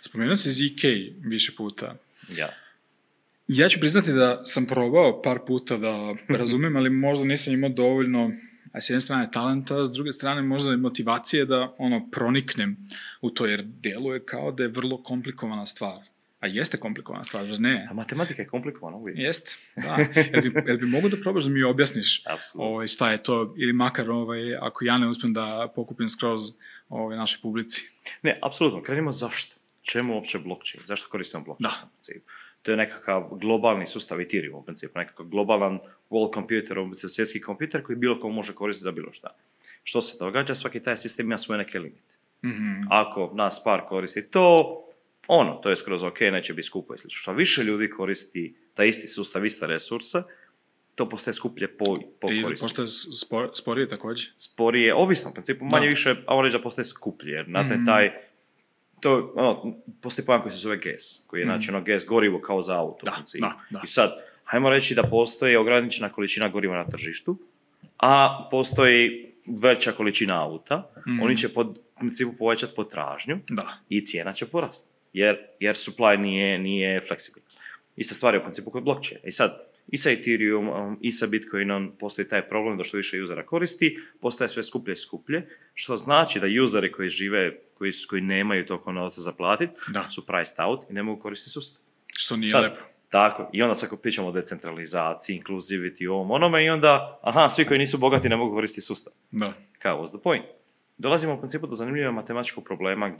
Spomenuo si ZK više puta. Jasno. Ja ću priznati da sam probao par puta da razumem, ali možda nisam imao dovoljno, a s jedne strane talenta, s druge strane možda i motivacije da proniknem u to, jer deluje kao da je vrlo komplikovana stvar. A jeste komplikovana stvar, zar ne? A matematika je komplikovana uvijek. Jeste, da. Jel bi mogu da probaš da mi objasniš šta je to, ili makar ako ja ne uspem da pokupim skroz našoj publici? Ne, apsolutno. Krenimo zašto. Čemu uopće blockchain? Zašto koristimo blockchain? Da. To je nekakav globalni sustav Ethereum u principu, nekakav globalan world computer, svjetski kompjuter koji bilo ko može koristiti za bilo šta. Što se događa? Svaki taj sistem ima svoje neke limite. Mm-hmm. Ako nas par koristi to je skroz ok, neće biti skupo i slično. Što više ljudi koristi taj isti sustav, ista resursa, to postaje skuplje po korisniku. I postaje sporije također? Sporije, ovisno u principu, manje više, a on reći da postaje skuplje, jer postoji pojam koji se zove gas, koji je gas gorivo kao za auto. I sad, hajmo reći da postoji ograničena količina goriva na tržištu, a postoji veća količina auta, oni će u principu povećati potražnju i cijena će porasti, jer supply nije fleksibilan. Ista stvar je u principu kod blockchaina. I sad, i sa Ethereum, i sa Bitcoinom postoji taj problem da što više usera koristi, postaje sve skuplje i skuplje, što znači da useri koji žive, koji nemaju toliko novca za platiti, su priced out i ne mogu koristiti sustav. Što nije lepo. Tako, i onda sad ako pričamo o decentralizaciji, inclusivity, ovom onome, i onda, svi koji nisu bogati ne mogu koristiti sustav. Da. Kao, what's the point? Dolazimo u principu do zanimljivog matematičkog problema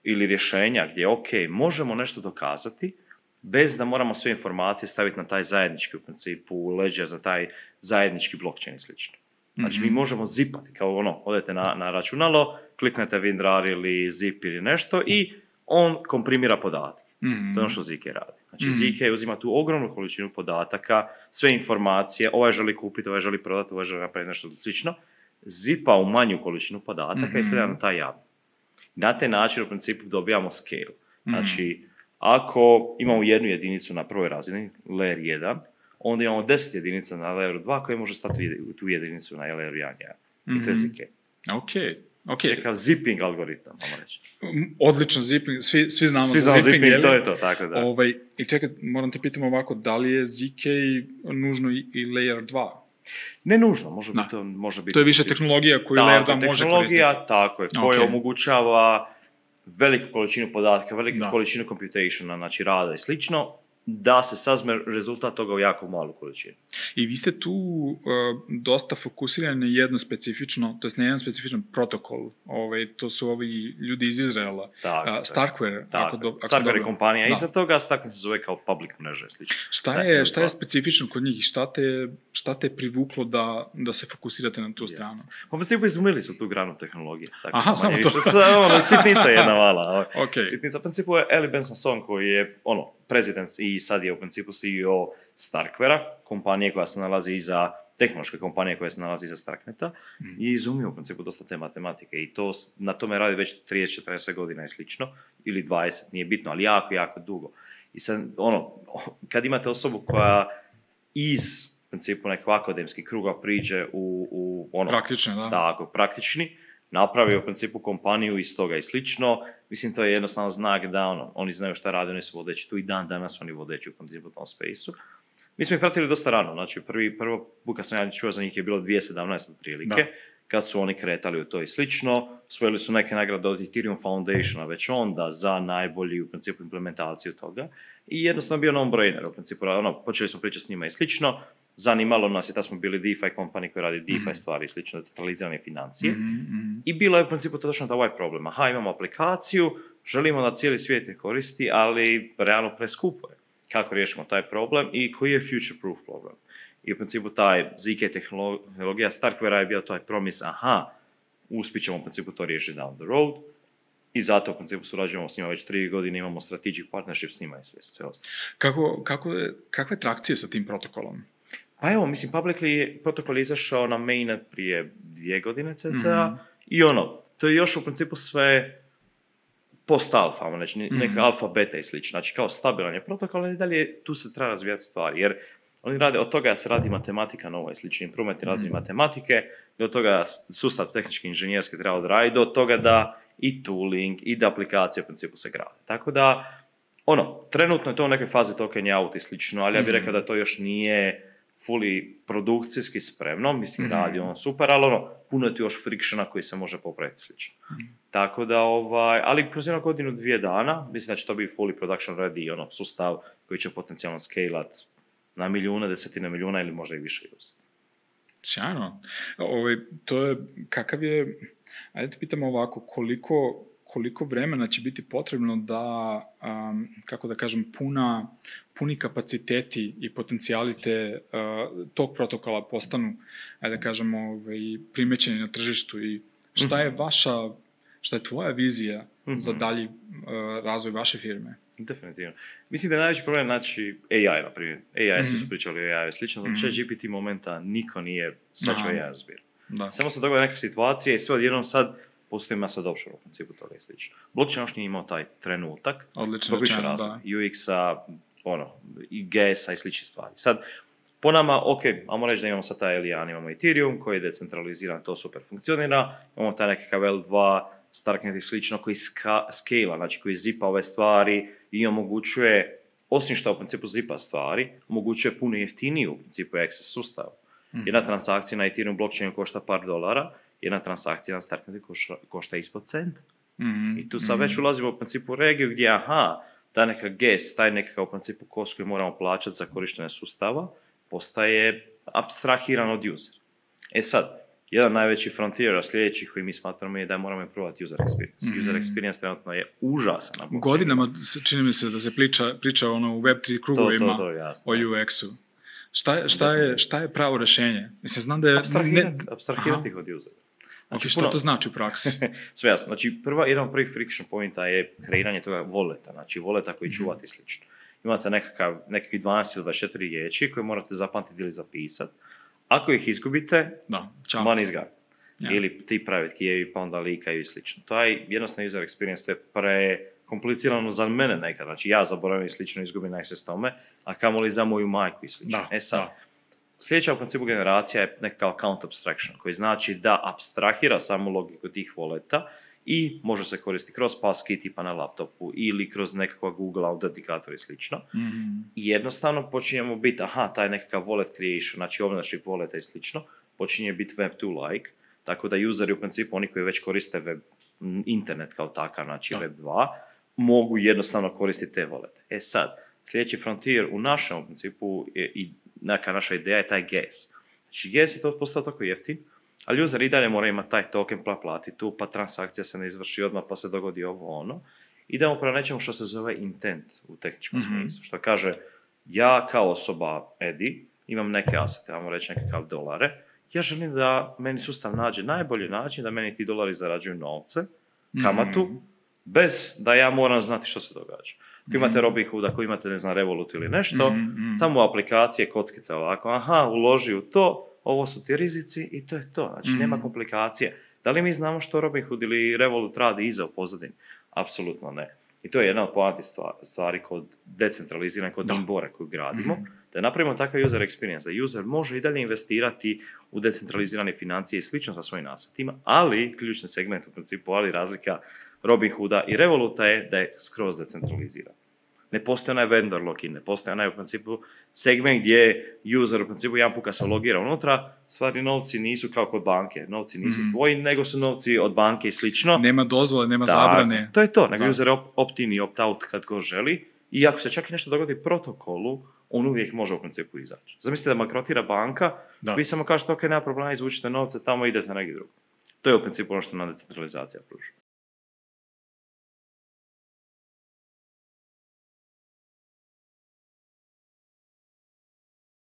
ili rješenja gdje, možemo nešto dokazati, bez da moramo sve informacije staviti na taj zajednički, u principu, ledger za taj zajednički blockchain i slično. Znači, mi možemo zipati, kao odete na računalo, kliknete WinRAR ili zip ili nešto i on komprimira podatke. To je ono što ZK radi. Znači, ZK uzima tu ogromnu količinu podataka, sve informacije, ovaj želi kupiti, ovaj želi prodati, ovaj želi napraviti nešto slično, zipa u manju količinu podataka i stavlja na taj javni. Na taj način, u principu, dobijamo scale. Znači, ako imamo jednu jedinicu na prvoj razini, layer 1, onda imamo 10 jedinica na layeru 2 koje može stati u tu jedinicu na layeru 1. I to je ZK. Čekav zipping algoritam, možemo reći. Odlično zipping, svi znamo za zipping, to je to, tako da. I čekaj, moram te pitati ovako, da li je ZK nužno i layer 2? Ne nužno, može biti. To je više tehnologija koju layer 2 može koristiti. Tehnologija, tako je, koja omogućava veliku količinu podatka, veliku količinu computationa, znači rada i slično, da se sazme rezultat toga u jako malu količinu. I vi ste tu dosta fokusirani na jedno specifično, to jest na jedan specifičan protokol. To su ovi ljudi iz Izraela. Starkware. Starkware je kompanija iza toga, Starkware se zove kao public mreže. Šta je specifično kod njih i šta te privuklo da se fokusirate na tu stranu? U principu izumili su tu granu tehnologije. Aha, samo to. Sitnica jedna mala. Sitnica. U principu je Eli Benson koji je prezident i sad je u principu CEO Starkwarea, kompanije koja se nalazi iza, tehnološke kompanije koja se nalazi iza Starkneta, i izumio u principu dosta te matematike i na tome radi već 30-40 godina i slično, ili 20, nije bitno, ali jako, jako dugo. I sad, kad imate osobu koja iz principu nekog akademskih kruga priđe u praktični, napravio u principu kompaniju iz toga i slično, mislim to je jednostavno znak da oni znaju šta rade, oni su vodeći tu i dan danas oni vodeći u principu tom space-u. Mi smo ih pratili dosta rano, znači prvo put kad sam ja čuo za njih je bilo 2017 prilike, kad su oni kretali u to i slično, osvojili su neke nagrade od Ethereum Foundationa već onda za najbolji u principu implementaciju toga i jednostavno bio non-brainer u principu, počeli smo pričati s njima i slično, zanimalo nas je da smo bili DeFi company koji radi DeFi stvari i slično, decentralizirane financije. I bilo je u principu točno ovaj problem. Imamo aplikaciju, želimo da cijeli svijet je koristi, ali realno preskupo je. Kako riješimo taj problem i koji je future proof problem. I u principu taj ZK tehnologija Starkwarea je bio taj promis, uspit ćemo u principu to riješiti down the road. I zato u principu surađujemo s njima već 3 godine, imamo strategic partnership s njima i sve ostalo. Kakva je trakcija sa tim protokolom? Pa evo, mislim, publicly protokol je izašao na mainnet prije 2 godine cca. I to je još u principu sve post-alfa, neka alfa, beta i slično. Znači, kao stabilan je protokol, ali dalje tu se treba razvijati stvari, jer oni rade, od toga se radi matematika nova i slično, improvement razvoj matematike, do toga sustav tehnički inženjerski treba odraditi, do toga da i tooling, i da aplikacije u principu se grade. Tako da, trenutno je to u nekoj fazi token out i slično, ali ja bih rekao da to još nije fully produkcijski spremno, mislim radi on super, ali puno je tu još frictiona koji se može popraviti slično. Tako da, ali kroz jedno godinu, 2 dana, mislim da će to biti fully production ready, sustav koji će potencijalno scalat na milijune, desetine milijuna ili možda i više user. Sjajno. To je, kakav je, ajde te pitamo ovako, koliko vremena će biti potrebno da, kako da kažem, puni kapaciteti i potencijali tog protokola postanu, ajde da kažemo, primećeni na tržištu i šta je tvoja vizija za dalji razvoj vaše firme? Definitivno. Mislim da je najveći problem znači AI, na primjer. AI, svi su pričali o AI, slično, od ChatGPT momenta niko nije svačao AI razbir. Samo se dogodila neka situacija i sve odjednom sad postoji mass adoption u principu toga i slično. Blockchain još nije imao taj trenutak. Odlično rečeno, da. UX-a, i GS-a i slične stvari. Sad, po nama, ajmo reći da imamo sad taj Elian, imamo Ethereum koji je decentraliziran, to super funkcionira, imamo taj nekakav L2, Starknet i slično koji scala, znači koji zipa ove stvari i omogućuje, osim što u principu zipa stvari, omogućuje puno jeftiniju u principu access sustav. Jedna transakcija na Ethereum blockchainu košta $par, jedna transakcija na Starknetu košta ispod cent. I tu sad već ulazimo u principu u regiju gdje, taj nekakav gas, taj nekakav u principu kost koji moramo plaćati za korištenje sustava, postaje apstrahiran od user. Sad, jedan najveći frontier sljedećih koji mi smatramo je da moramo improvati user experience. User experience trenutno je užasan na blockchainu. Godinama čini mi se da se priča u Web3 krugovima o UX-u. Šta je pravo rešenje? Mislim, znam da je... Apstrahirati ih od usera. Znači, što to znači u praksi? Sve jasno. Znači, jedan od prvih friction pointa je kreiranje toga voleta. Znači, voleta koji čuvati slično. Imate nekakvih 12 ili 24 riječi koje morate zapamtiti ili zapisati. Ako ih izgubite, money is gone. Ili ti private key, pa onda likaju i slično. To je jednostavno user experience, to je prekomplicirano za mene nekad. Znači, ja zaboravim i slično, izgubim access tome, a kamoli za moju majku i slično. Sljedeća u principu generacija je nekakav account abstraction, koji znači da apstrahira samu logiku tih voleta i može se koristiti kroz passkey tipa na laptopu ili kroz nekakva Google autentikator i slično. I jednostavno počinjemo biti, taj nekakav wallet creation, znači ownership walleta i slično, počinje biti Web2-like, tako da useri u principu, oni koji već koriste web, internet kao takav, znači Web2, mogu jednostavno koristiti te volete. Sad, sljedeći frontier u našem principu i neka naša ideja je taj gas. Znači gas je to postao tako jeftin, ali user i dalje mora imati taj token plati tu, pa transakcija se ne izvrši odmah, pa se dogodi ovo. Idemo prema nečemu što se zove intent u tehničkom smislu. Što kaže, ja kao osoba Edi imam neke asete, ajmo reći nekakav dolare, ja želim da meni sustav nađe najbolji način da meni ti dolari zarađuju novce, kamatu, bez da ja moram znati što se događa. Ako imate Robinhood, ako imate, ne znam, Revolut ili nešto, tamo u aplikacije kockica ovako, uloži u to, ovo su ti rizici i to je to. Znači, nema komplikacije. Da li mi znamo što Robinhood ili Revolut radi iza u pozadini? Apsolutno ne. I to je jedna od poantih stvari kod decentralizirane, kod Inbora koju gradimo, da napravimo takav user experience, da user može i dalje investirati u decentralizirane financije i slično sa svojim asetima, ali ključni segment u principu, ali razlika Robinhooda i Revoluta je da je skroz decentraliziran. Ne postoji onaj vendor lock-in, ne postoji onaj u principu segment gdje user u principu jedan put kad se logira unutra, stvari novci nisu kao kod banke, novci nisu tvoji, nego su novci od banke i slično. Nema dozvole, nema zabrane. To je to, nego user opt-in i opt-out kad go želi i ako se čak i nešto dogodi protokolu, on uvijek može u principu izaći. Zamislite da bankrotira banka, vi samo kažete, ok, nema problema, izvučite novce, tamo idete negdje drugo. To je u principu ono što nam decentralizacija pruža.